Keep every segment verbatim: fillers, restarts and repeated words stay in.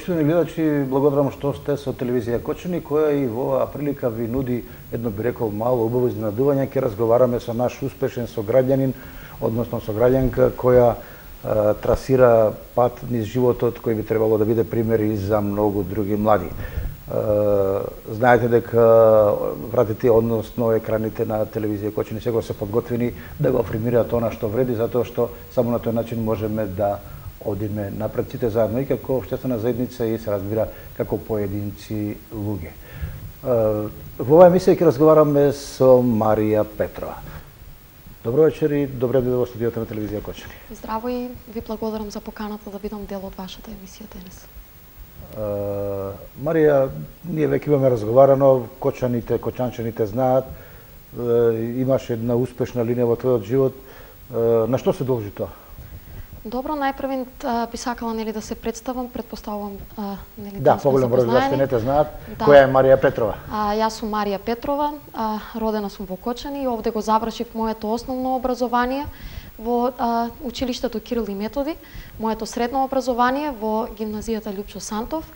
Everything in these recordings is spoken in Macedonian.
Почитувани гледачи, благодарам што сте со телевизија Кочани, која и во оваа прилика ви нуди едно, би рекол, мало убаво изненадување. Ќе разговараме со наш успешен сограѓанин, односно сограѓанка која е, трасира пат низ животот кој би требало да биде пример и за многу други млади. Е, знаете дека вратите, односно екраните на телевизија Кочани сега се подготвени да го афирмираат она што вреди, затоа што само на тој начин можеме да одиме напред сите заедно и како општествена заедница и се разбира како поединци луѓе. Во оваа емисија ќе разговараме со Марија Петрова. Добро вечер и добре дојде во студиото на телевизија Кочани. Здраво и ви благодарам за поканата да бидам дел од вашата емисија денес. Марија, ние веќе имаме разговарано, кочаните, кочанчаните знаат, имаш една успешна линија во твојот живот. На што се должи тоа? Добро, најпрвен би сакала нели да се представам, претпоставувам нели да, поголем број луѓе не те знаат. Да. Која е Марија Петрова? А, јас сум Марија Петрова, а, родена сум во Кочани и овде го завршив моето основно образование во а, училиштето Кирил и Методи, моето средно образование во гимназијата Лјупчо Сантов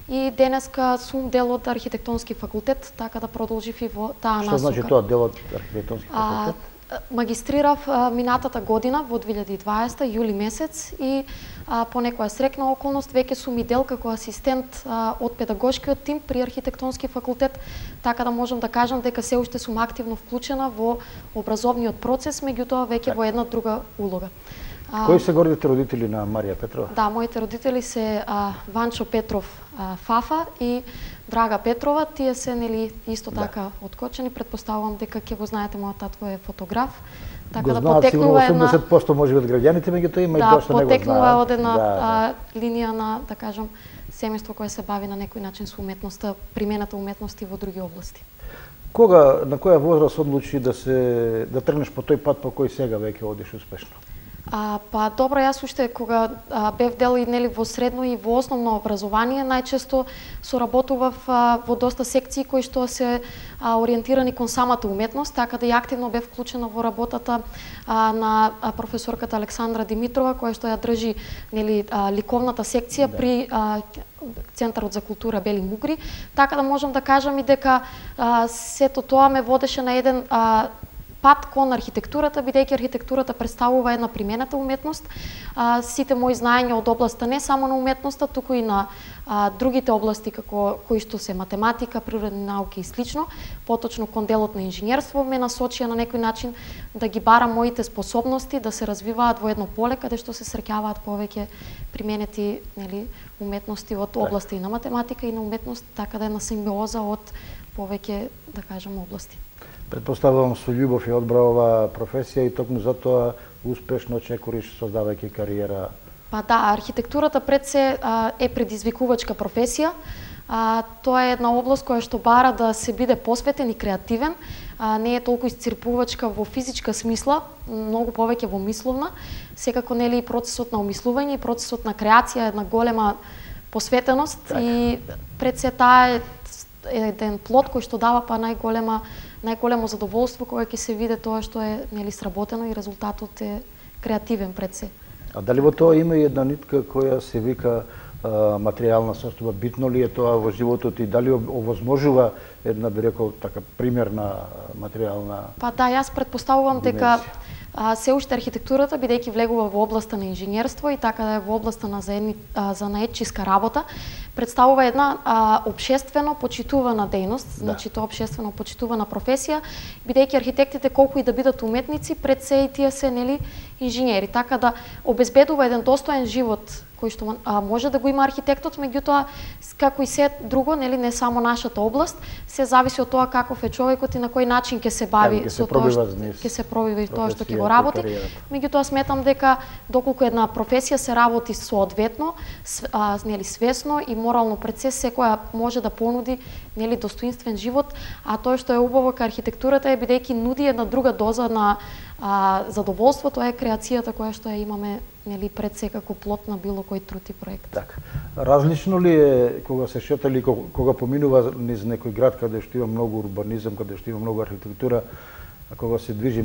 и денеска сум дел од архитектонски факултет, така да продолжив и во таа насока. Што значи тоа дел од архитектонски факултет? А, Магистрирав а, минатата година во две илјади и дваесета јули месец и а, по некоја срекна околност веќе сум и дел како асистент а, од педагошкиот тим при архитектонски факултет, така да можам да кажам дека се уште сум активно вклучена во образовниот процес, меѓутоа веќе во една друга улога. А, Кои се гордите родители на Марија Петрова? Да, моите родители се а, Ванчо Петров а, Фафа и Драга Петрова, тие се нели исто така да. Од Кочани, претпоставувам дека ќе го знаете, мојот татко е фотограф. Така го да потекнува една осумдесет проценти може би од граѓаните, меѓутоа има да, и дошто не го знаат. Да, потекнува од една да, да. А, линија на, да кажам, семејство кое се бави на некој начин со уметноста, примената уметности во други области. Кога, на која возраст одлучи да се да тргнеш по тој пат по кој сега веќе одиш успешно? А, па добро, јас уште кога а, бев дел и нели во средно и во основно образование, најчесто соработував а, во доста секции кои што се а, ориентирани кон самата уметност, така да и активно бев вклучена во работата а, на а, професорката Александра Димитрова, која што ја држи нели а, ликовната секција да. При а, Центарот за култура Бели Мугри, така да можам да кажам и дека а, сето тоа ме водеше на еден а, пат кон архитектурата, бидејќи архитектурата представува една примената уметност. А, сите мои знаења од областа не само на уметноста, туку и на а, другите области како кои што се математика, природни науки и слично, поточно кон делот на инженерство ме насочија на некој начин да ги барам моите способности да се развиваат во едно поле каде што се среќаваат повеќе применети нели уметности од области и на математика и на уметност, така да е на симбиоза од повеќе, да кажам, области. Предпоставувам со љубов и одбра оваа професија и токму затоа успешно чекориш создавајќи кариера. Па да, архитектурата пред се а, е предизвикувачка професија. А, тоа е една област која што бара да се биде посветен и креативен. А, не е толку исцрпувачка во физичка смисла, многу повеќе во мисловна. Секако нели и процесот на умислување и процесот на креација е една голема посветеност так. И пред се таа е еден плод кој што дава па најголема најголемо задоволство кое ќе се види тоа што е нели сработено и резултатот е креативен пред се. А дали во тоа има и една нитка која се вика а, материјална состојба? Битно ли е тоа во животот и дали овозможува една, би рекол, така примерна материјална? Па да, јас претпоставувам дека а, се уште архитектурата, бидејќи влегува во областа на инженерство и така да е во областа на заедни, а, занаетчиска работа, представува една а, обшествено почитувана дејност, да. Значи тоа обшествено почитувана професија, бидејќи архитектите колку и да бидат уметници, пред се и тие се нели инженери, така да обезбедува еден достоен живот кој што а, може да го има архитектот, меѓутоа како и се друго, нели не само нашата област, се зависи од тоа каков е човекот и на кој начин ќе се бави со тоа што ќе се пробива и тоа што ќе го работи. Меѓутоа сметам дека доколку една професија се работи соодветно, а, нели свесно и морално пред се, секоја може да понуди нели достоинствен живот, а тоа што е убаво кај архитектурата е бидејќи нуди една друга доза на а, задоволство, тоа е креацијата која што ја имаме нели пред се како плод на било кој труд и проект. Така. Различно ли е кога се шета или кога поминува низ некој град каде што има многу урбанизам, каде што има многу архитектура, кога се движи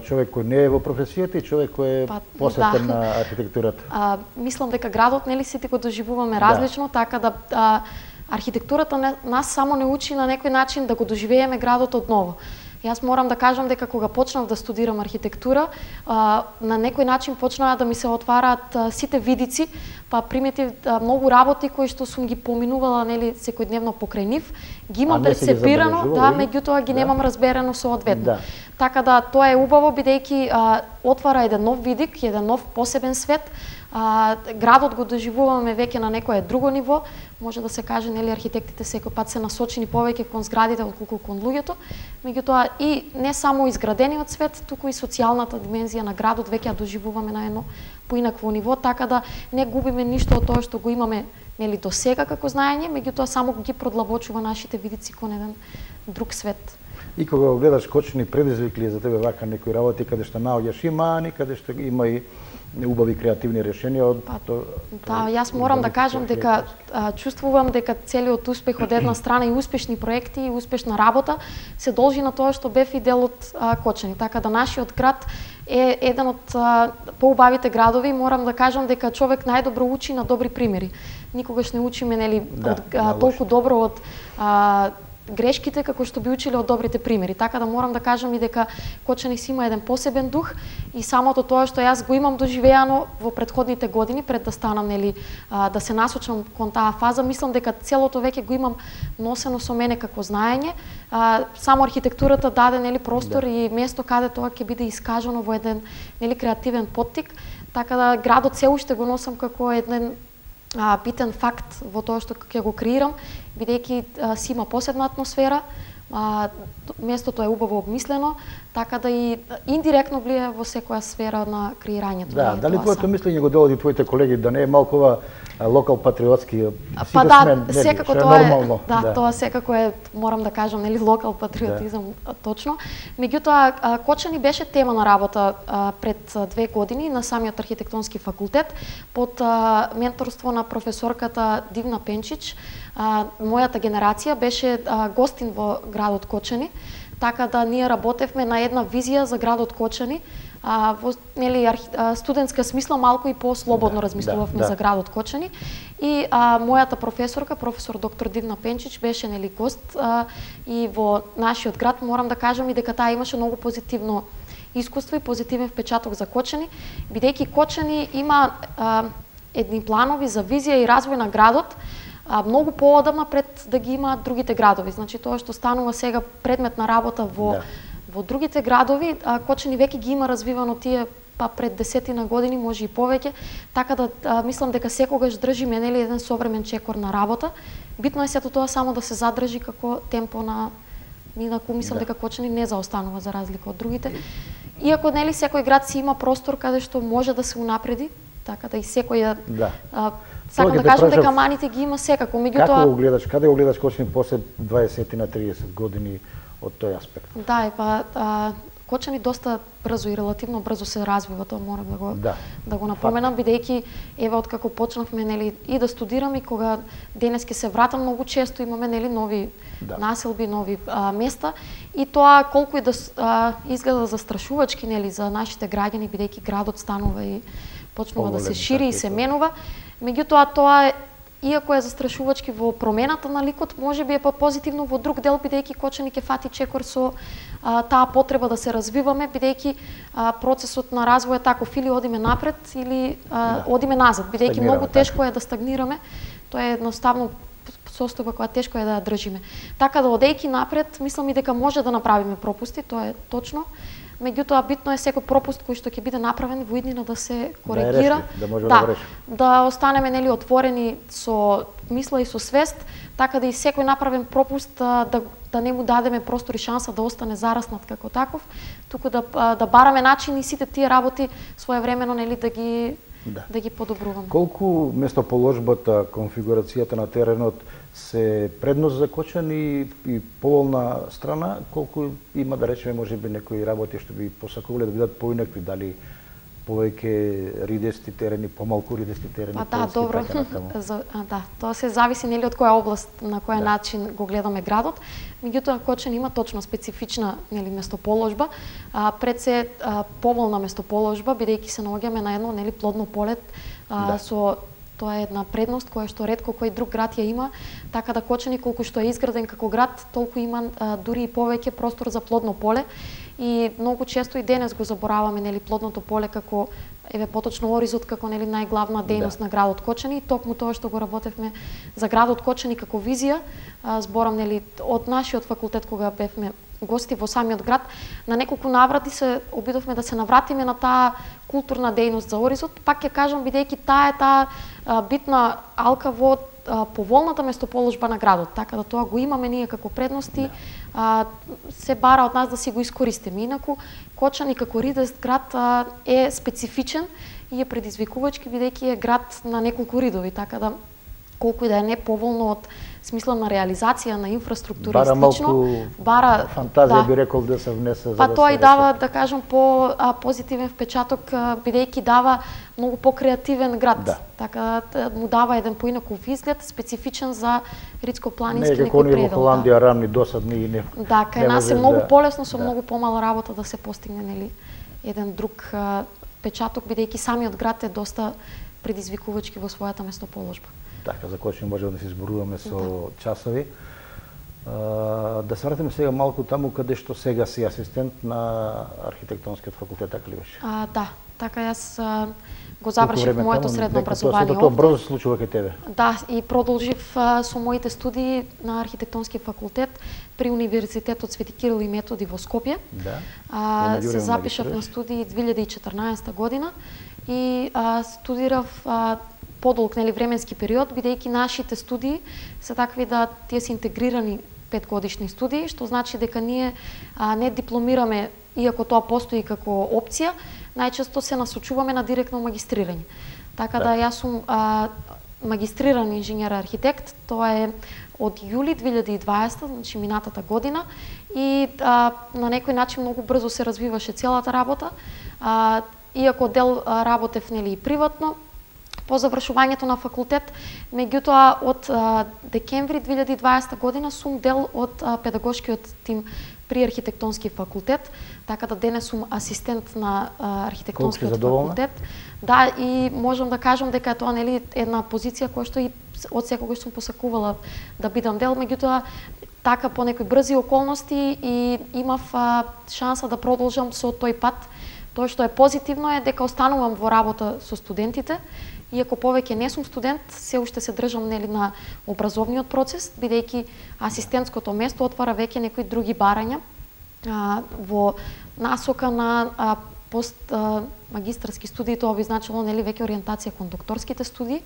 човек кој не е во професијата и човек кој е па, посветен да. на архитектурата? А, мислам дека градот нели сите го доживуваме различно, да. Така да а, архитектурата не, нас само не учи на некој начин да го доживееме градот одново. Јас морам да кажам дека кога почнав да студирам архитектура, а, на некој начин почнаа да ми се отвараат а, сите видици, па приметив а, многу работи кои што сум ги поминувала нели секојдневно покрај нив, ги имам перцепирано, да, меѓутоа ги да. Немам разберено соодветно. Да. Така да тоа е убаво бидејќи а, отвара еден нов видик, еден нов посебен свет. А, градот го доживуваме веќе на некое друго ниво. Може да се каже нели архитектите секој пат се насочени повеќе кон зградите отколку кон луѓето. Меѓутоа и не само изградениот свет, туку и социјалната димензија на градот веќе ја доживуваме на едно поинакво ниво, така да не губиме ништо од тоа што го имаме нели до сега како знаење, меѓутоа само ги продлабочува нашите видици кон еден друг свет. И кога го гледаш Кочани, предизвик ли за тебе вака некои работи каде што наоѓаш и мани, каде што има и убави креативни решенија од па, то, да, јас морам да кажам дека а, чувствувам дека целиот успех од една страна и успешни проекти и успешна работа се должи на тоа што бев и дел од а, Кочани. Така да нашиот град е еден од а, поубавите градови. Морам да кажам дека човек најдобро учи на добри примери. Никогаш не учиме нели да, од, а, толку добро од а, грешките како што би училе од добрите примери. Така да морам да кажам и дека Кочани си има еден посебен дух и самото тоа што јас го имам доживеано во претходните години пред да станам нели а, да се насочам кон таа фаза, мислам дека целото веќе го имам носено со мене како знаење. А, само архитектурата даде нели простор да. И место каде тоа ќе биде искажано во еден нели креативен поттик. Така да градот се уште го носам како еден А, битен факт во тоа што ќе го креирам, бидејќи си има посебна атмосфера, а, местото е убаво обмислено, така да и индиректно влие во секоја сфера на креирањето. Да, дали твоето мислење го доводи твоите колеги да не е малку ова локал патриотски? Па да, сме, секако тоа е, нормално, да, да, тоа секако е, морам да кажам, нели локал патриотизам да. Точно. Меѓутоа, Кочани беше тема на работа а, пред две години на самиот архитектонски факултет под а, менторство на професорката Дивна Пенчич. А, мојата генерација беше а, гостин во градот Кочани, така да ние работевме на една визија за градот Кочани. А, во нели архи, а, студентска смисла малку и по-слободно да, размислувавме да, да. За градот Кочани и а, мојата професорка, професор доктор Дивна Пенчич беше нели гост а, и во нашиот град. Морам да кажам и дека таа имаше многу позитивно искуство и позитивен впечаток за Кочани, бидејќи Кочани има а, едни планови за визија и развој на градот а, многу поодамна пред да ги имаат другите градови. Значи тоа што станува сега предмет на работа во да. Во другите градови, а, Кочани веќе ги има развивано тие па пред десетина години, може и повеќе, така да а, мислам дека секогаш држиме нели еден современ чекор на работа. Битно е сето тоа само да се задржи како темпо на инаку мислам да. Дека Кочани не заостанува за разлика од другите. Иако нели секој град си има простор каде што може да се унапреди, така да и секој да. А, сакам да кажам дека маните ги има секако, меѓутоа како го гледаш, каде го гледаш Кочани после дваесет на триесет години од тој аспект? Да, е па а, Кочани доста брзо и релативно брзо се развива, тоа морам да го да, да го напоменам, бидејќи еве откако почнавме нели и да студирам и кога денес ќе се вратам, многу често имаме нели нови да. Населби, нови а, места и тоа колку и да а, изгледа застрашувачки нели за нашите граѓани, бидејќи градот станува и почнува да се шири и се менува, меѓутоа тоа е иако е застрашувачки во промената на ликот, можеби е позитивно во друг дел, бидејќи Кочани ќе фати чекор со а, таа потреба да се развиваме, бидејќи а, процесот на развој е таков, или одиме напред, или а, да. Одиме назад, бидејќи многу тешко е да стагнираме, тоа е едноставно состојба која тешко е да ја држиме. Така да одејќи напред, мислам и дека може да направиме пропусти, тоа е точно. Меѓутоа битно е секој пропуст кој што ќе биде направен во иднина да се коригира, да, реши, да, да, да, да останеме нели отворени со мисла и со свест, така да и секој направен пропуст да да не му дадеме простор и шанса да остане зараснат како таков, туку да да бараме начини сите тие работи своевремено нели да ги да, да ги подобруваме. Колку местоположбата, конфигурацијата на теренот се предност за Кочани и поволна страна, колку има да речеме можеби некои работи што би посакувале да бидат поинакви, дали повеќе ридести терени, помалку ридести терени. Па да, добро. За, а, да, тоа се зависи нели од која област, на кој да. начин го гледаме градот. Меѓутоа Кочани има точно специфична нели местоположба, а, пред се а, поволна местоположба, бидејќи се наоѓаме на едно нели плодно поле а, да. со тоа е една предност која што ретко кој друг град ја има, така да Кочани колку што е изграден како град, толку има а, дури и повеќе простор за плодно поле. И многу често и денес го забораваме нели плодното поле како еве поточно Оризот како нели најглавна дејност да. на градот Кочани. И токму тоа што го работевме за градот Кочани како визија, а, зборам нели од нашиот факултет кога бевме гости во самиот град, на неколку наврати се обидовме да се навратиме на таа културна дејност за Оризот. Пак ќе кажам бидејќи таа е таа а, битна алка во поволната местоположба на градот, така да тоа го имаме ние како предности, а, се бара од нас да си го искористиме. Инаку Кочани како ридест град а, е специфичен и е предизвикувачки бидејќи е град на неколку ридови, така да колку и да е неповолно од смисла на реализација на инфраструктура бара и слично, малку бара фантазија да, би рекол да се внесе за па да тоа се и дава да кажам по а, позитивен впечаток бидејќи дава многу покреативен град. Да. Така да му дава еден поинаков изглед специфичен за ридско-планински некој некој предел. Не како во Холандија да. рамни досадни и не. Да, кај нас е многу да, полесно со да. многу помала работа да се постигне нели еден друг а, печаток бидејќи самиот град е доста предизвикувачки во својата местоположба. Така, за Кочани можеме да се изборуваме со да. часови. Uh, да се вратиме сега малку таму каде што сега си асистент на архитектонскиот факултет, така ли беше? А, да, така јас а, го завршив моето средно образование овде. Тоа брзо се случува кај тебе? Да, и продолжив а, со моите студии на архитектонски факултет при Универзитетот Свети Кирил и Методи во Скопје. Да. А, се запишав на студии две илјади и четрнаесета година и а, студирав а, подолг нели временски период, бидејќи нашите студии се такви да тие се интегрирани петгодишни студии, што значи дека ние а, не дипломираме, иако тоа постои како опција, најчесто се насочуваме на директно магистрирање. Така да, да јас сум а, магистриран инженер архитект, тоа е од јули две илјади и дваесета, значи минатата година, и а, на некој начин многу брзо се развиваше целата работа. А, иако дел а, работев нели и приватно, по завршувањето на факултет, меѓутоа од а, декември две илјади и дваесета година сум дел од а, педагошкиот тим при архитектонски факултет, така да денес сум асистент на а, архитектонскиот факултет. Да, и можам да кажам дека е тоа нели една позиција која што и од секогаш сум посакувала да бидам дел, меѓутоа така по некои брзи околности и имав а, шанса да продолжам со тој пат. Тоа што е позитивно е дека останувам во работа со студентите. Иако повеќе не сум студент, се уште се држам нели на образовниот процес, бидејќи асистентското место отвара веќе некои други барања а, во насока на а, пост а, магистарски студии. Тоа би значило нели веќе ориентација кон докторските студии.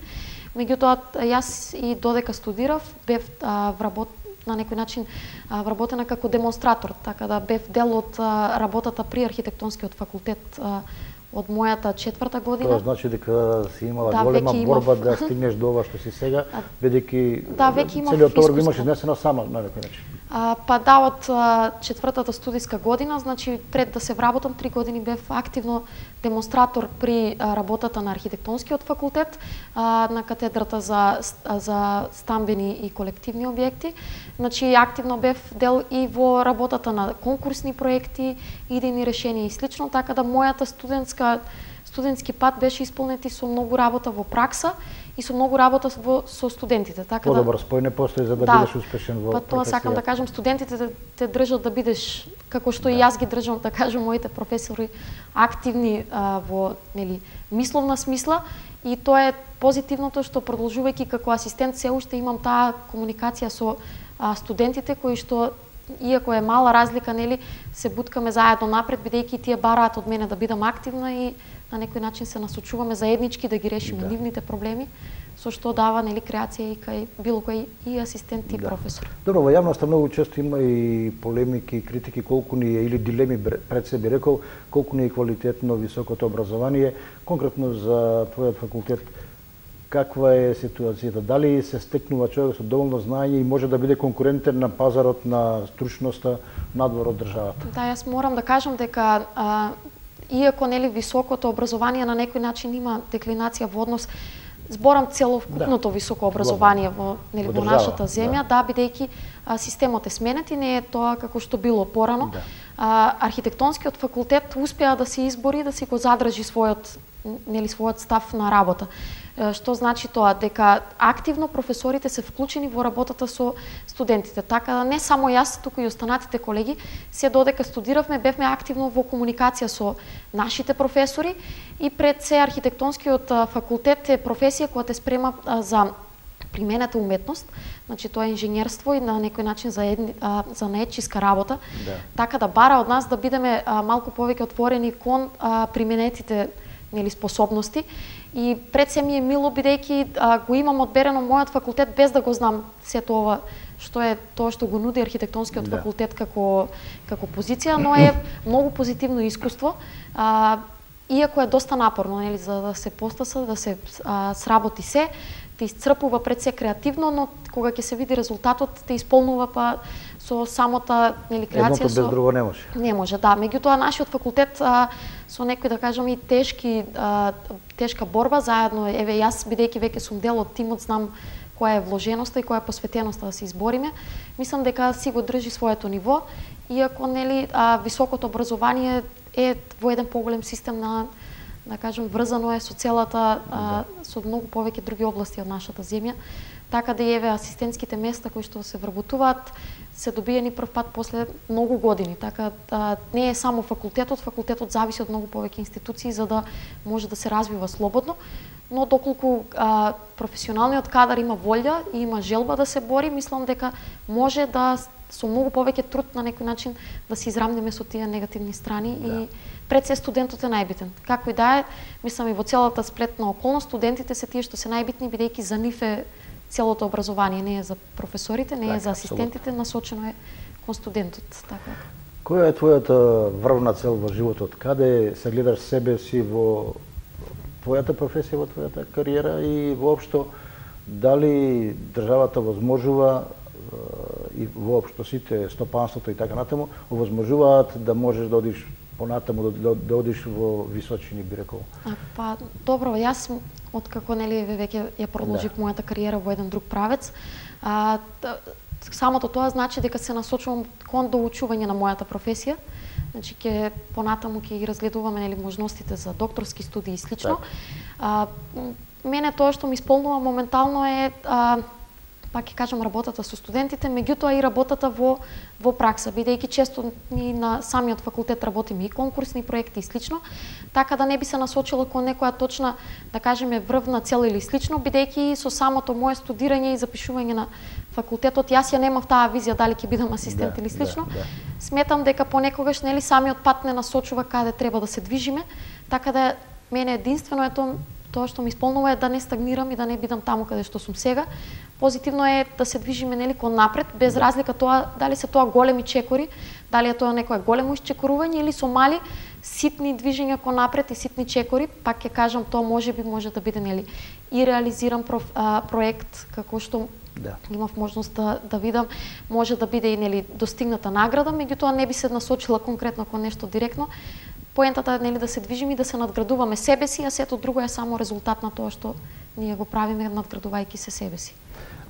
Меѓутоа јас и додека студирав бев а, вработ на некој начин а, вработена како демонстратор, така да бев дел од а, работата при архитектонскиот факултет а, од мојата четврта година. Тоа значи дека си имала да, голема борба имав... да стигнеш до ова што си сега, бидејќи да, целиот товар го имаш изнесено сама на некој начин. А, па да, од а, четвртата студиска година, значи пред да се вработам три години бев активно демонстратор при а, работата на архитектонскиот факултет, а, на катедрата за за стамбени и колективни објекти. Значи активно бев дел и во работата на конкурсни проекти, идејни решенија и слично, така да мојата студентска студентски пат беше исполнет и со многу работа во пракса и со многу работа во, со студентите. Така да подобар спој не постои за да, да бидеш успешен во професија. Па тоа сакам да кажам, студентите те, те држат да бидеш како што да. и јас ги држам, да кажам, моите професори активни а, во нели мисловна смисла, и тоа е позитивното што продолжувајќи како асистент се уште имам таа комуникација со а, студентите кои што иако е мала разлика, нели, се буткаме заедно напред, бидејќи тие бараат од мене да бидам активна и на некој начин се насочуваме заеднички да ги решиме да. нивните проблеми, со што дава нели креација и кај било кој и асистент и да. професор. Добро, во јавноста многу често има и полемики и критики колку ни е, или дилеми пред себе рекол, колку ни е квалитетно високото образование, конкретно за твојот факултет. Каква е ситуацијата? Дали се стекнува човек со доволно знаење и може да биде конкурентен на пазарот на стручноста надвор од државата? Да, јас морам да кажам дека а, иако нели високото образование на некој начин има деклинација во однос, зборам целокупното да. Високо образование во нели во, во нашата земја, да, да бидејќи системот е сменет и не е тоа како што било порано. Да. А, архитектонскиот факултет успеа да се избори, да си го задржи својот нели својот став на работа. Што значи тоа? Дека активно професорите се вклучени во работата со студентите. Така да не само јас, туку и останатите колеги, се додека студиравме, бевме активно во комуникација со нашите професори и пред се архитектонскиот факултет е професија која те спрема за примената уметност, значи тоа е инженерство и на некој начин за едни, а, за наетчиска работа. Да. Така да бара од нас да бидеме а, малку повеќе отворени кон а, применетите нели способности и пред се ми е мило бидејќи го имам одберено мојот факултет без да го знам сето ова што е тоа што го нуди архитектонскиот да. Факултет како како позиција, но е многу позитивно искуство. А, иако е доста напорно нели за да се постаса, да се а, сработи се, те исцрпува пред се креативно, но кога ќе се види резултатот, те исполнува па со самата нели креација. Едното без друго не може. Не може, да. Меѓутоа нашиот факултет а, со некои да кажеме и тешки а, тешка борба заедно, еве јас бидејќи веќе сум дел од тимот, знам која е вложеноста и која е посветеноста да се избориме. Мислам дека си го држи своето ниво, иако нели а, високото образование е во еден поголем систем на да кажем врзано е со целата а, со многу повеќе други области од нашата земја. Така да еве асистентските места кои што се вработуваат се добиени прв пат после многу години. Така а, не е само факултетот, факултетот зависи од многу повеќе институции за да може да се развива слободно, но доколку а, професионалниот кадар има волја и има желба да се бори, мислам дека може да со многу повеќе труд на некој начин да се израмнеме со тие негативни страни да. И пред се студентот е најбитен. Како и да е, мислам и во целата сплетна околност, студентите се тие што се најбитни, бидејќи за нив е целото образование, не е за професорите, не е за асистентите, абсолютно. Насочено е кон студентот. Така. Која е твојата врвна цел во животот? Каде се гледаш себе си во твојата професија, во твојата кариера и воопшто дали државата возможува и воопшто сите стопанството и така натаму овозможуваат да можеш да одиш понатаму, да, да одиш во височини, би рекол? А, па, добро, јас откако нели веќе ја продолжив да. Мојата кариера во еден друг правец, а, самото тоа значи дека се насочувам кон доучување на мојата професија. Значи ќе понатаму ќе ги разгледуваме нели можностите за докторски студии и слично. А, мене тоа што ми исполнува моментално е а, пак ќе кажам работата со студентите, меѓутоа и работата во во пракса, бидејќи често ни на самиот факултет работиме и конкурсни проекти и слично, така да не би се насочила кон некоја точна, да кажеме, врвна цел или слично, бидејќи со самото мое студирање и запишување на факултетот јас ја немав таа визија дали ќе бидам асистент да, или слично. Да, да. Сметам дека понекогаш нели самиот пат не насочува каде треба да се движиме, така да мене единствено е тоа тоа што ми исполнува е да не стагнирам и да не бидам таму каде што сум сега. Позитивно е да се движиме нели кон напред, без да. Разлика тоа дали се тоа големи чекори, дали е тоа некое големо исчекорување или со мали ситни движења кон напред и ситни чекори, пак ќе кажам тоа можеби може да биде нели и реализиран проф, а, проект како што да. Имав можност да, да видам, може да биде и нели достигната награда, меѓутоа не би се насочила конкретно кон нешто директно. Поентата е нели да се движиме и да се надградуваме себе си, а сето друго е само резултат на тоа што ние го правиме надградувајќи се себе си.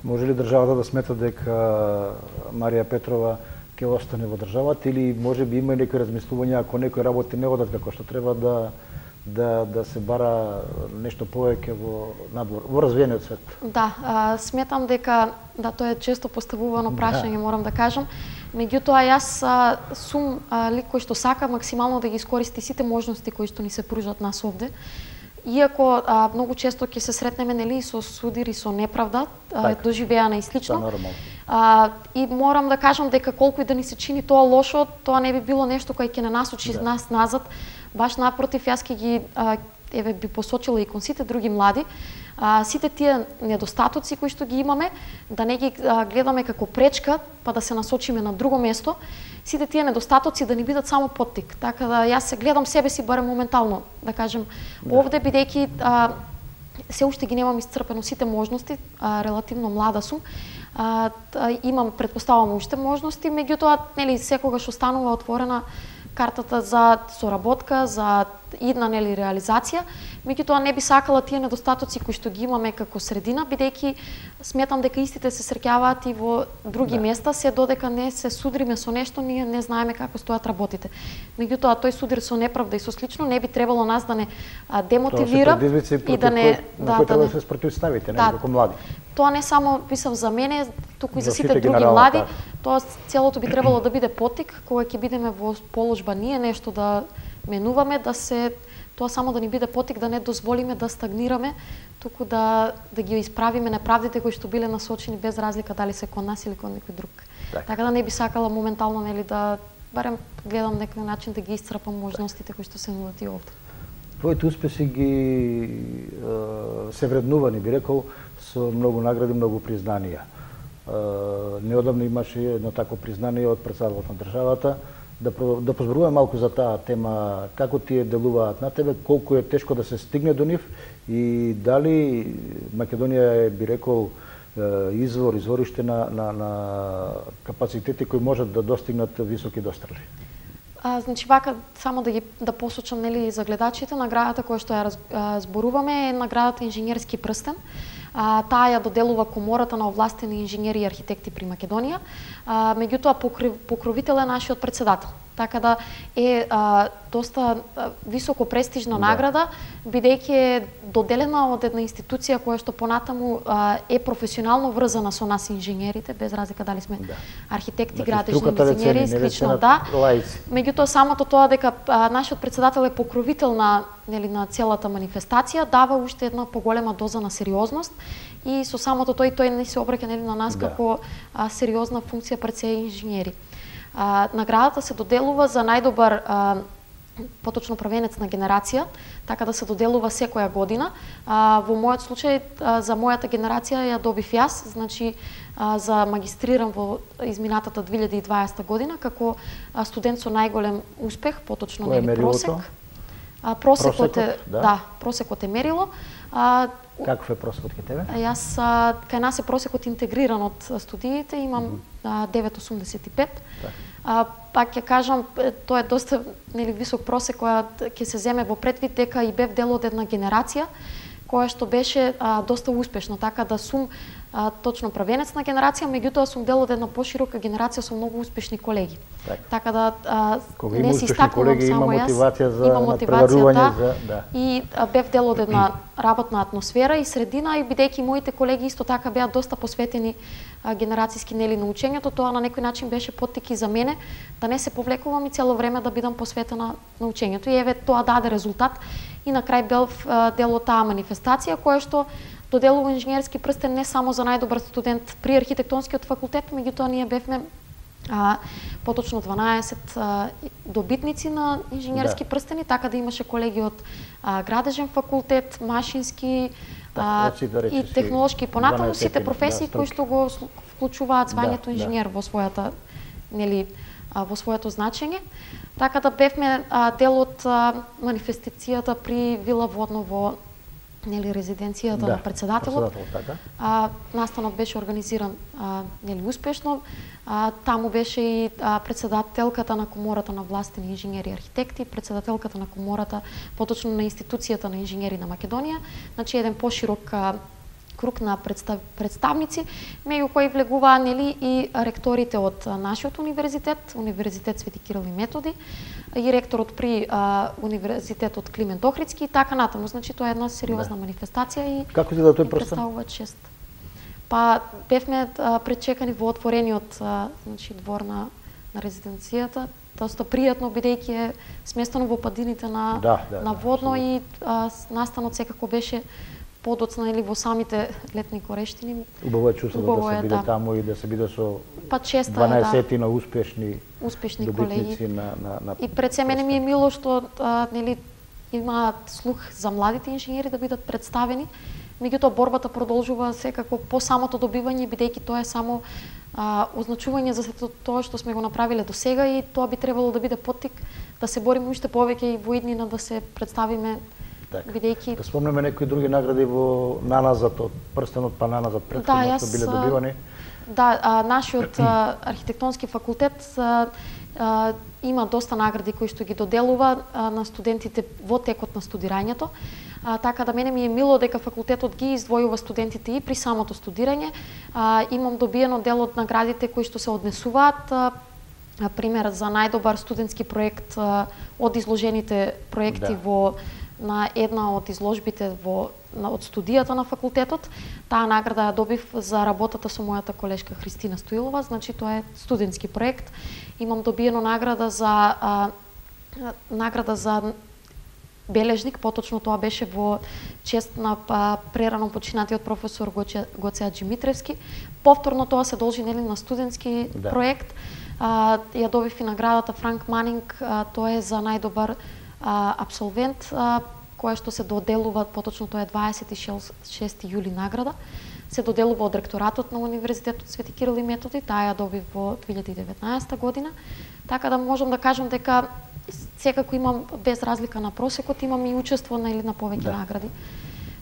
Може ли државата да смета дека Марија Петрова ќе остане во државата или може би има некои размислувања ако некои работи не одат како што треба да да да се бара нешто повеќе во надвор, во развиениот свет? Да, а, сметам дека да тоа е често поставувано прашање, да. Морам да кажам. Меѓутоа јас а, сум а, лик кој што сака максимално да ги искористи сите можности кои што ни се пружат нас овде. Иако а, многу често ќе се сретнеме нели со судири со неправда, а, доживеана и слично. А, и морам да кажам дека колку и да ни се чини тоа лошо, тоа не би било нешто кое ќе не насочи да. Нас назад. Баш напротив, јас ќе ги а, еве би посочила и кон сите други млади, а, сите тие недостатоци кои што ги имаме, да не ги а, гледаме како пречка, па да се насочиме на друго место, сите тие недостатоци да ни бидат само поттик. Така да јас се гледам себе си барем моментално, да кажем, да. Овде бидејќи а, се уште ги немам исцрпено сите можности, а, релативно млада сум, а, имам, предпоставам уште можности, меѓутоа нели секогаш останува отворена картата за соработка, за идна нели реализација, меѓутоа не би сакала тие недостатоци кои што ги имаме како средина, бидејќи сметам дека истите се среќаваат и во други да. места, се додека не се судриме со нешто, ние не знаеме како стојат работите. Меѓутоа тој судир со неправда и со слично не би требало нас да не а, демотивира и да не да, да, да се спротивставите, да, како млади. Тоа не само писав за мене, туку и за, за сите други млади, так. Тоа целото би требало да биде поттик кога ќе бидеме во положба ние нешто да менуваме, да се тоа само да ни биде поттик да не дозволиме да стагнираме, туку да да ги исправиме неправдите кои што биле насочени без разлика дали се кон нас или кон некој друг. Так. Така да не би сакала моментално нели да барем гледам некој начин да ги исцрпам можностите кои што се нудат и овде. Твоите успеси ги се вреднувани, би рекол, со многу награди, многу признанија. Неодамно имаше едно такво признание од председателот на државата. Да, да позборуваме малку за таа тема, како тие делуваат на тебе, колку е тешко да се стигне до нив и дали Македонија е, би рекол, извор, извориште на, на, на капацитети кои можат да достигнат високи дострели. А, значи вака само да ги да посочам нели за гледачите, наградата која што ја раз, а, зборуваме е наградата Инженерски прстен. А, таа ја доделува Комората на овластени инженери и архитекти при Македонија. А, меѓутоа покровител е нашиот председател. Така да е а, доста а, високо престижна да. награда, бидејќи е доделена од една институција која што понатаму а, е професионално врзана со нас инженерите, без разлика дали сме да. архитекти, значи, градежни инженери, слично да. Меѓутоа самото тоа дека а, нашиот председател е покровител на нели на целата манифестација дава уште една поголема доза на сериозност и со самото тој тој не се обраќа нели на нас да. како а, сериозна функција пред се инженери. А, наградата се доделува за најдобар а, поточно правенец на генерација, така да се доделува секоја година. А, во мојот случај а, за мојата генерација ја добив јас, значи а, за магистрирам во изминатата две илјади и дваесета година како а, студент со најголем успех, поточно нели просек. А, просекот, просекот е да. да, просекот е мерило. А, Каков е просекот кај тебе? Јас а, кај нас е просекот интегриран од студиите, имам mm -hmm. девет целу осумдесет и пет. Так. А, пак ќе кажам, тоа е доста нели висок просек која ќе се земе во предвид дека и бев дел од една генерација која што беше а, доста успешна, така да сум а, точно правенец на генерација, меѓутоа сум дел од една поширока генерација со многу успешни колеги. Так. Така да а, не се истакнувам само јас, мотивација за има мотивација да, за, да. И а, бев дел од една работна атмосфера и средина и бидејќи моите колеги исто така беа доста посветени а, генерацијски нели на учењето, тоа на некој начин беше поттик и за мене да не се повлекувам и цело време да бидам посветена на учењето и еве тоа даде резултат и на крај бев а, дел од таа манифестација која што доделува инженерски прстен не само за најдобар студент при архитектонскиот факултет, меѓутоа ние бевме а, поточно дванаесет а, добитници на инженерски да. прстени, така да имаше колеги од а, градежен факултет, машински а, да, и технолошки понатаму сите професии да, кои што го вклучуваат звањето да, инженер да. во својата нели а, во своето значење. Така да бевме а, дел од а, манифестацијата при Вила Водно во нели резиденцијата да, на председателот. Така. А, настанот беше организиран а, нели успешно. А, таму беше и а, председателката на Комората на властени инженери и архитекти, председателката на Комората, поточно на институцијата на инженери на Македонија, значи еден поширок а, круг на представ, представници, меѓу кои влегуваа нели и ректорите од нашиот универзитет, Универзитет Свети Кирил и Методи, и ректорот при а, Универзитетот Климент Охридски и така натаму. Значи тоа е една сериозна да. манифестација и како изгледа тој прстен? Представува чест. Па бевме а, пречекани во отворениот а, значи двор на на резиденцијата, доста пријатно бидејќи е сместено во падините на да, да, на Водно да, и а, настанот секако беше подоцна или во самите летни корештини. Убаво е чувство да се биде да. таму и да се биде со па честа дванаесет да. успешни успешни добитници колеги. На, на, на и пред се мене ми е мило што а, нели имаат слух за младите инженери да бидат представени. Меѓутоа борбата продолжува секако по самото добивање бидејќи тоа е само а, означување за сето тоа што сме го направиле до сега и тоа би требало да биде поттик да се бориме уште повеќе и во иднина да се представиме бидејќи да спомнеме некои други награди во наназад од прстенот па наназад претходно да, што биле добивани. Да, а, нашиот а, архитектонски факултет а, а, има доста награди кои што ги доделува а, на студентите во текот на студирањето. А, така да мене ми е мило дека факултетот ги издвојува студентите и при самото студирање. А, имам добиено дел од наградите кои што се однесуваат. А, пример за најдобар студентски проект а, од изложените проекти да. во на една од изложбите во на, од студијата на факултетот. Таа награда ја добив за работата со мојата колешка Христина Стоилова, значи тоа е студентски проект. Имам добиено награда за а, награда за бележник, поточно тоа беше во чест на а, прерано починатиот професор Гоце, Гоце Аџимитревски. Повторно тоа се должи нели на студентски да. проект. А, ја добив и наградата Франк Манинг, а, тоа е за најдобар а, абсолвент, а, која што се доделува, поточно тоа е дваесет и шести јули награда, се доделува од ректоратот на Универзитетот Свети Кирил и Методи, таа ја добив во две илјади и деветнаесета година. Така да можам да кажам дека секако имам, без разлика на просекот, имам и учество на или на повеќе да. награди.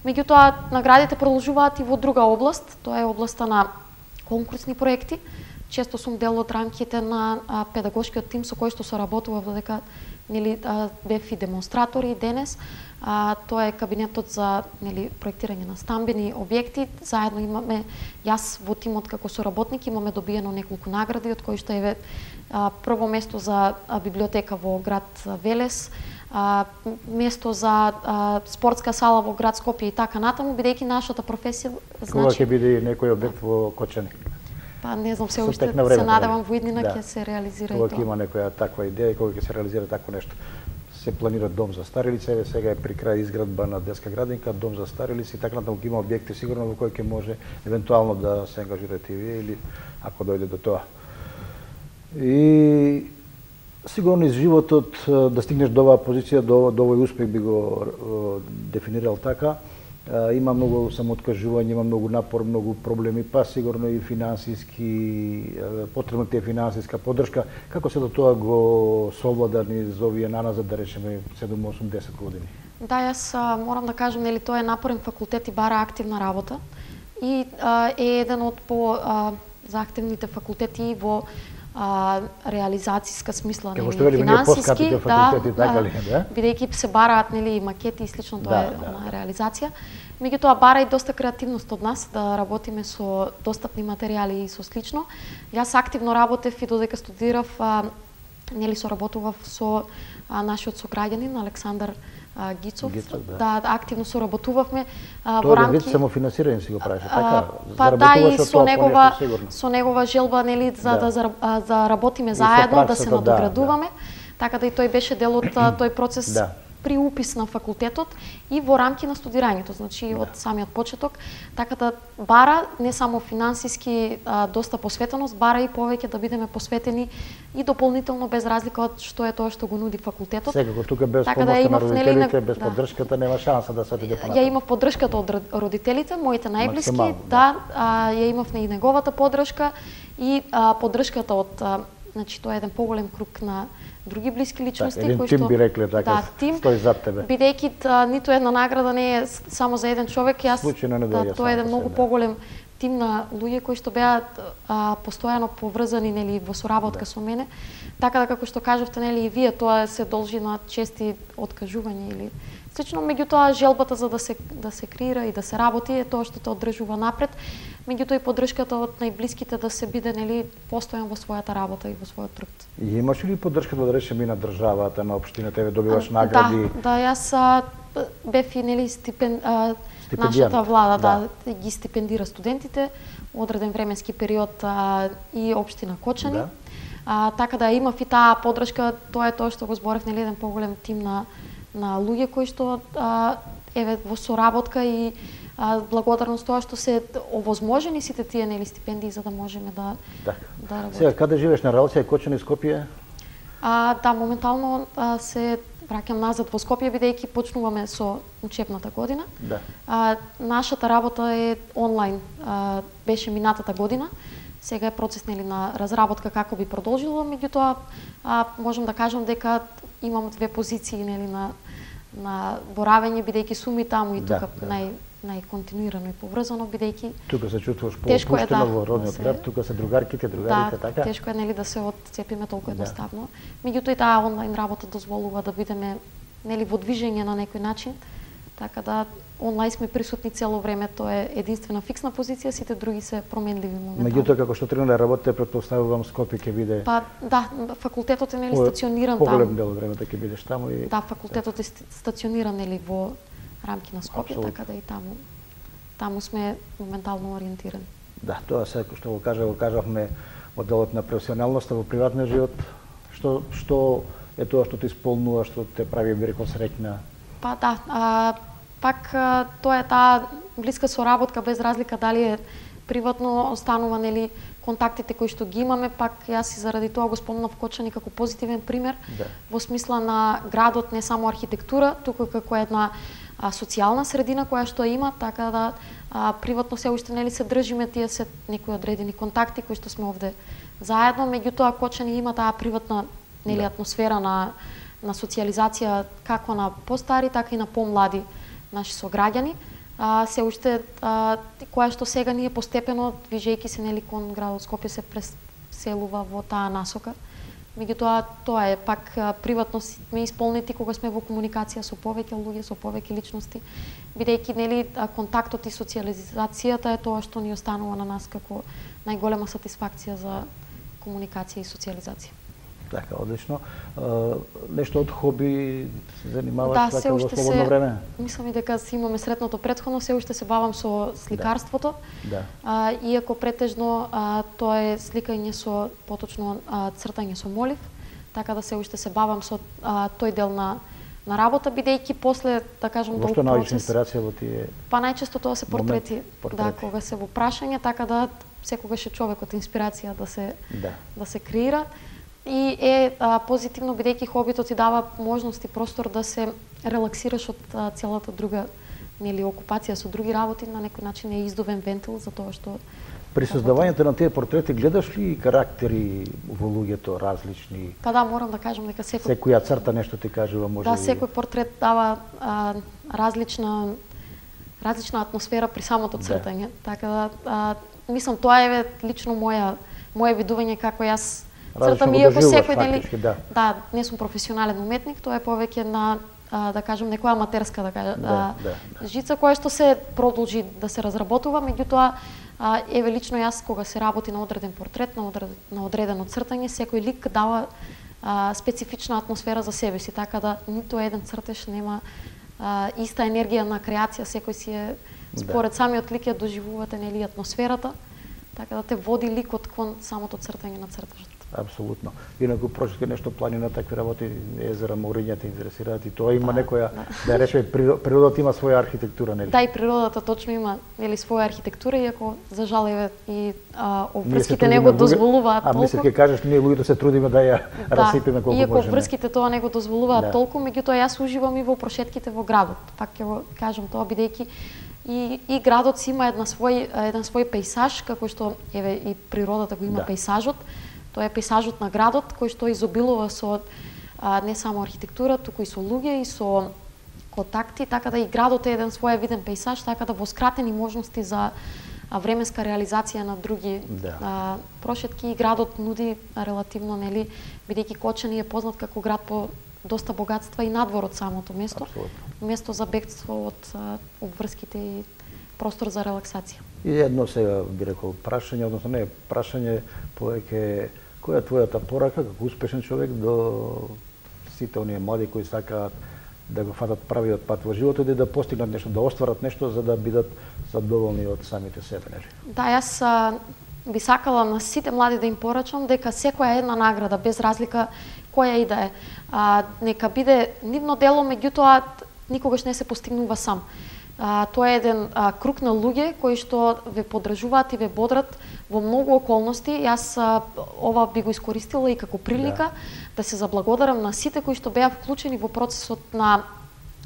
Меѓутоа, наградите продолжуваат и во друга област, тоа е областа на конкурсни проекти. Често сум дел од рамките на а, педагошкиот тим со кој што соработував додека нели бев и демонстратори денес. А, тоа е кабинетот за нели проектирање на стамбени објекти. Заедно имаме, јас во тимот како соработник имаме добиено неколку награди, од кои што е а, прво место за а, библиотека во град Велес, а, место за а, спортска сала во град Скопје и така натаму, бидејќи нашата професија значи кога ќе биде некој објект во Кочани? Па не знам се уште, се надевам во иднина ќе да. се реализира кога и тоа. Кога ќе има некоја таква идеја и кога ќе се реализира такво нешто. Се планира дом за стари лица, еве сега е при крај изградба на детска градинка, дом за стари лица и така натаму ќе има објекти сигурно во кои ќе може евентуално да се ангажирате и вие или ако дојде до тоа. И сигурно из животот да стигнеш до оваа позиција, до, до овој успех би го дефинирал така. Има многу самооткажување, има многу напор, многу проблеми, па сигурно и финансиски, потребна ти е финансиска поддршка. Како се до тоа го совлада низ овие наназад, да речеме седум, осум, десет години? Да, јас а, морам да кажам, нели тоа е напорен факултет и бара активна работа и а, е еден од по а, заактивните факултети во а, реализацијска смисла, нели, финансиски, да, така ли, да? Бидејќи се бараат нели макети и слично, тоа да, е да. на реализација. Меѓутоа бара и доста креативност од нас да работиме со достапни материјали и со слично. Јас активно работев и додека студирав, а, нели соработував со а, нашиот сограѓанин Александар а, Гицов. Гицов да. да, активно соработувавме а, во рамки. Тоа е вид самофинансирање си го правеше, така? Па да, и со негова со негова желба нели за да, да за, а, за работиме заедно, да се надоградуваме. Да, да. Така да и тој беше дел од тој процес. Да. При упис на факултетот и во рамки на студирањето, значи да. од самиот почеток, така да бара не само финансиски а, доста посветеност, бара и повеќе да бидеме посветени и дополнително без разлика од што е тоа што го нуди факултетот. Секако тука без така помоста да на родителите, без да. поддршката нема шанса да се отиде понатаму. Ја имав поддршката од родителите, моите најблиски, да, да а, ја имав и неговата поддршка и а, поддршката од а, значи тоа е еден поголем круг на други блиски личности кои што тим би рекле така да, тим, стои зад тебе. Бидејќи ниту една награда не е само за еден човек, јас да, тоа е еден многу поголем тим на луѓе кои што беа а, постојано поврзани нели во соработка да. со мене. Така да како што кажавте нели и вие, тоа се должи на чести откажувања или слично, меѓутоа желбата за да се да се креира и да се работи е тоа што те одржува напред. Меѓутоа и поддршката од најблиските да се биде нели постојан во својата работа и во својот труд. И имаш ли поддршката да речеме и на државата, на општината, еве добиваш а, награди? Да, да, јас а, бев и нели стипен а, нашата влада да. да ги стипендира студентите одреден временски период а, и општина Кочани. Да. А, така да имав и таа поддршка, тоа е тоа што го зборев, нели еден поголем тим на на луѓе кои што а, еве во соработка и а, благодарност тоа што се овозможени сите тие нели стипендии за да можеме да така. да работиме. Сега каде живееш на Ралција, Кочани, Скопје? А, да, моментално а, се враќам назад во Скопје бидејќи почнуваме со учебната година. Да. А, нашата работа е онлайн. А, беше минатата година. Сега е процес нели на разработка како би продолжило, меѓутоа а, можам да кажам дека имам две позиции нели на на боравење, бидејќи сум и таму и тука да, нај најконтинуирано и поврзано, бидејќи тука се чувствуваш поопуштено да, во родниот да град, тука се другарките, другарите, да, така? Тешко е нели да се отцепиме толку да. едноставно. Меѓутоа и таа онлайн работа дозволува да бидеме нели во движење на некој начин, така да онлайн сме присутни цело време, тоа е единствена фиксна позиција, сите други се променливи моментално. Меѓутоа како што тргна да работите, претпоставувам Скопје ќе биде. Па да, факултетот е нели стациониран таму. Поголем дел од времето ќе бидеш таму и да, факултетот е стациониран нели во рамки на Скопје, Абсолютно. така да и таму таму сме моментално ориентирани. Да, тоа се што го кажа, го кажавме од делот на професионалноста во приватниот живот. Што што е тоа што те исполнува, што те прави би рекол среќна? Па да, а, пак а, тоа е таа блиска соработка без разлика дали е приватно, останува нели контактите кои што ги имаме, пак јас и заради тоа го спомнав Кочани како позитивен пример, да. Во смисла на градот не само архитектура, туку како една а, социјална средина која што има, така да а, приватно се уште нели се држиме тие се некои одредени контакти кои што сме овде заедно, меѓутоа Кочани има таа приватна нели да. атмосфера на на социјализација како на постари, така и на помлади наши сограѓани. А, се уште а, која што сега ние постепено движејќи се нели кон градот Скопје се преселува во таа насока. Меѓутоа тоа е пак а, приватно сме исполнети кога сме во комуникација со повеќе луѓе, со повеќе личности, бидејќи нели контактот и социјализацијата е тоа што ни останува на нас како најголема сатисфакција за комуникација и социјализација. Така, одлично. Uh, нешто од хоби се занимаваш да, така во слободно се, време? Мислам и дека си имаме сретното претходно, се уште се бавам со сликарството. Да. А, иако претежно а, тоа е сликање со поточно а, цртање со молив, така да се уште се бавам со а, тој дел на на работа, бидејќи после, да кажам, толку процес. Што наоѓаш инспирација во тие? Па најчесто тоа се портрети, портрети. Да, кога се во прашање, така да секогаш е човекот инспирација да се да, да се креира. И е а, позитивно бидејќи хобито ти дава можност и простор да се релаксираш од а, целата друга нели окупација со други работи, на некој начин е издувен вентил за тоа што при создавањето на тие портрети гледаш ли карактери во луѓето различни? Па да, морам да кажам дека секој секоја црта нешто ти кажува, може да, ли... секој портрет дава а, различна различна атмосфера при самото цртање. Да. Така да а, мислам тоа е лично моја мое видување како јас цртам, иако секој нели да. да, не сум професионален уметник, тоа е повеќе на а, да кажам некоја аматерска да кажа, да, да, да. жица која што се продолжи да се разработува, меѓутоа а, еве лично јас кога се работи на одреден портрет, на, одред, на одредено цртање, секој лик дава а, специфична атмосфера за себе си, така да ниту еден цртеж нема а, иста енергија на креација, секој си е според да. самиот лик ја доживувате нели атмосферата, така да те води ликот кон самото цртање на цртежот. Апсолутно. Инаку прочитка нешто планина, такви работи, езера, мориња те интересираат и тоа има да, некоја да, да речеме природата има своја архитектура, нели? Да, и природата точно има нели своја архитектура, иако за жал еве и а, обврските не го дозволуваат толку. А мислам ќе кажеш ние луѓето се трудиме да ја да, расипиме колку иако можеме. Иако врските тоа не го дозволуваат да. толку, меѓутоа јас уживам и во прошетките во градот. Пак ќе го кажам тоа бидејќи и и градот си има една свој еден свој пејсаж, како што еве и природата го има да. пејсажот. Тоа е пејсажот на градот кој што изобилува со а, не само архитектура, туку и со луѓе и со контакти, така да и градот е еден своевиден пејсаж, така да во скратени можности за а, временска реализација на други да. а, прошетки и градот нуди а, релативно нели бидејќи Кочани е познат како град по доста богатства и надвор од самото место. Апсолутно. Место за бегство од а, обврските и простор за релаксација. И едно сега би рекол прашање, односно не прашање, повеќе која е твојата порака како успешен човек до сите оние млади кои сакаат да го фатат правиот пат во животот и да постигнат нешто, да остварат нешто за да бидат задоволни од самите себе, нели? Да, јас а, би сакала на сите млади да им порачам дека секоја една награда без разлика која и да е, а, нека биде нивно дело, меѓутоа никогаш не се постигнува сам. А, тоа е еден а, круг на луѓе кои што ве поддржуваат и ве бодрат во многу околности. Јас а, ова би го искористила и како прилика да, да се заблагодарам на сите кои што беа вклучени во процесот на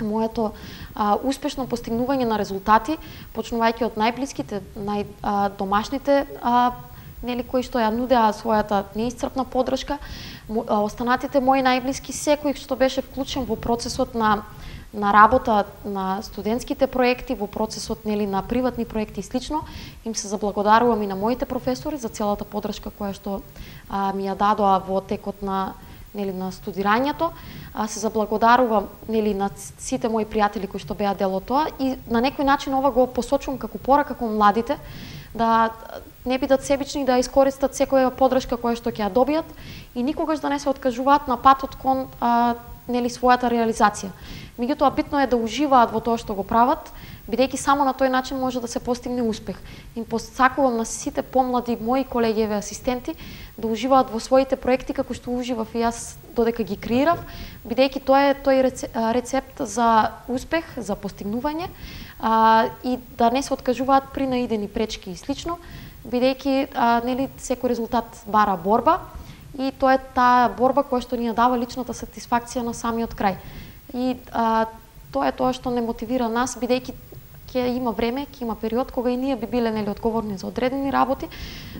моето а, успешно постигнување на резултати, почнувајќи од најблиските, најдомашните нели кои што ја нудеа својата неисцрпна поддршка, останатите мои најблиски, секој што беше вклучен во процесот на на работа на студентските проекти, во процесот нели на приватни проекти и слично. Им се заблагодарувам и на моите професори за целата поддршка која што а, ми ја дадоа во текот на нели на студирањето. А, се заблагодарувам нели на сите мои пријатели кои што беа дел од тоа и на некој начин ова го посочувам како порака кон младите да не бидат себични, да искористат секоја поддршка која што ќе ја добијат и никогаш да не се откажуваат на патот кон а, нели својата реализација. Меѓутоа битно е да уживаат во тоа што го прават, бидејќи само на тој начин може да се постигне успех. Им посакувам на сите помлади мои колегиеви асистенти да уживаат во своите проекти како што уживав и јас додека ги креирав, бидејќи тоа е тој рецепт за успех, за постигнување а, и да не се откажуваат при наидени пречки и слично, бидејќи а, нели секој резултат бара борба и тоа е таа борба која што ни ја дава личната сатисфакција на самиот крај. И а, тоа е тоа што не мотивира нас, бидејќи ќе има време, ќе има период кога и ние би биле нели одговорни за одредени работи.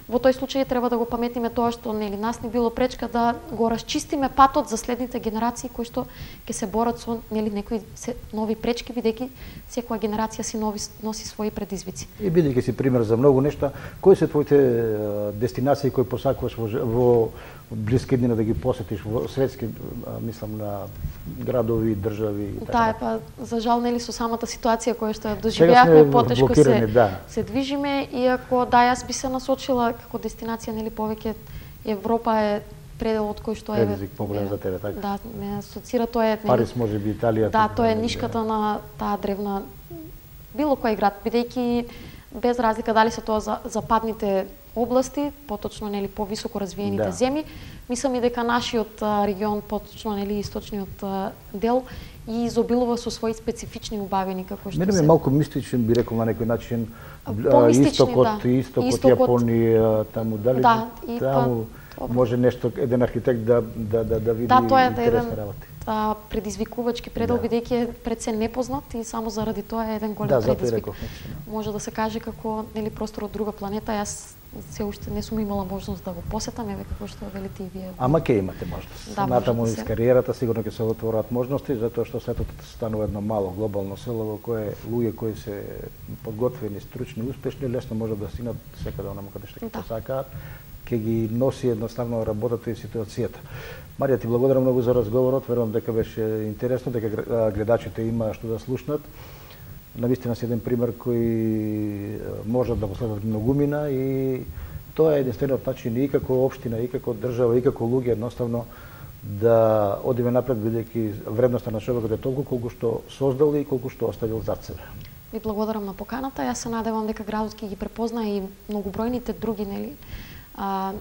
Во тој случај треба да го паметиме тоа што нели нас не било пречка да го расчистиме патот за следните генерации кои што ќе се борат со нели некои нови пречки, бидејќи секоја генерација си нови, носи своји предизвици. И бидејќи си пример за многу нешта, кои се твоите дестинации кои посакуваш во, во блиски дни да ги посетиш во светски, мислам на градови, држави и така. Да, е, па за жал нели со самата ситуација која што ја доживеавме, потешко се да. се движиме, иако да јас би се насочила како дестинација нели повеќе Европа е пределот кој што е предизвик поголем за тебе, така. Да, ме асоцира тоа е нели, Париз, може би Италија. Да, тоа е нишката на таа древна било кој град, бидејќи без разлика дали се тоа за западните области, поточно нели повисоко развиените да. земји, мислам и дека нашиот регион, поточно нели источниот дел, и изобилува со своји специфични убавини како што Мене се. Мене малку мистичен би рекол на некој начин, Помистични, истокот, да. истокот, Истокот, Јапонија, таму дали да, и таму па, може нешто еден архитект да да да, да види да, тоа е да интересни еден работи. а, предизвикувачки предел, Да. бидејќи е пред се непознат и само заради тоа е еден голем Да, затоа предизвик. реков, значи, Може да се каже како нели простор од друга планета. Јас се уште не сум имала можност да го посетам, еве како што велите и вие. Ама ќе имате можност. Да, Натаму може да низ се. кариерата сигурно ќе се отворат можности, затоа што светот станува едно мало глобално село во кое луѓе кои се подготвени, стручни, успешни, лесно можат да стигнат секаде онаму каде што ќе Да. посакаат, ќе ги носи едноставно работата и ситуацијата. Марија, ти благодарам многу за разговорот, верувам дека беше интересно, дека гледачите има што да слушнат. Навистина си еден пример кој можат да го следат многумина и тоа е единствениот начин и како општина, и како држава, и како луѓе едноставно да одиме напред, бидејќи вредноста на човекот е толку колку што создал и колку што оставил зад себе. Ви благодарам на поканата. Јас се надевам дека градот ќе ги препозна и многобројните други нели а,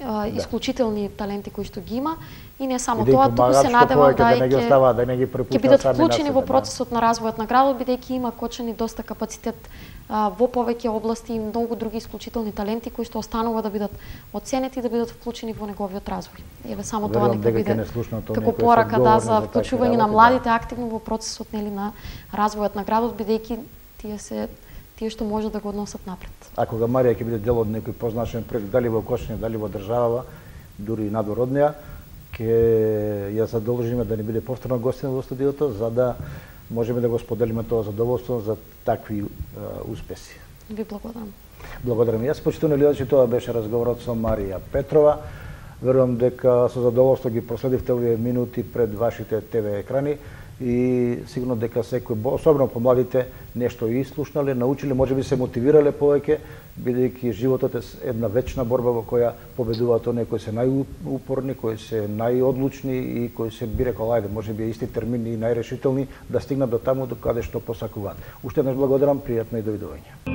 а, исклучителни таленти кои што ги има и не само И да тоа, им туку се помагаат што надевам повеќе да да и не ги ќе оставаат, да не ги ќе препуштаат бидат сами на вклучени себе, во да. процесот на развојот на градот, бидејќи има кочени доста капацитет а, во повеќе области и многу други исклучителни таленти кои што останува да бидат оценети и да бидат вклучени во неговиот развој. Еве само тоа Верувам нека дека ќе биде не слушнат оние како кои се порака да одговорни за за такви вклучување на работи, младите да. активно во процесот нели на развојот на градот, бидејќи тие се тие што може да го односат напред. А кога Марија ќе биде дел од некој позначен проект, дали во Кошине, дали во државава, дури и надвор од неа, ќе ја задолжиме да не биде повторно гостина во студиото, за да можеме да го споделиме тоа задоволство за такви uh, успеси. Ви благодарам. Благодарам и јас, почитувани гледачи, тоа беше разговорот со Марија Петрова. Верувам дека со задоволство ги проследивте овие минути пред вашите те ве екрани и сигурно дека секој, особено помладите, нешто и слушнале, научиле, можеби се мотивирале повеќе, бидејќи животот е една вечна борба во која победуваат оние кои се најупорни, кои се најодлучни и кои се, би рекол, ајде, можеби исти термини и најрешителни да стигнат до таму до каде што посакуваат. Уште еднаш благодарам, пријатно и довидување.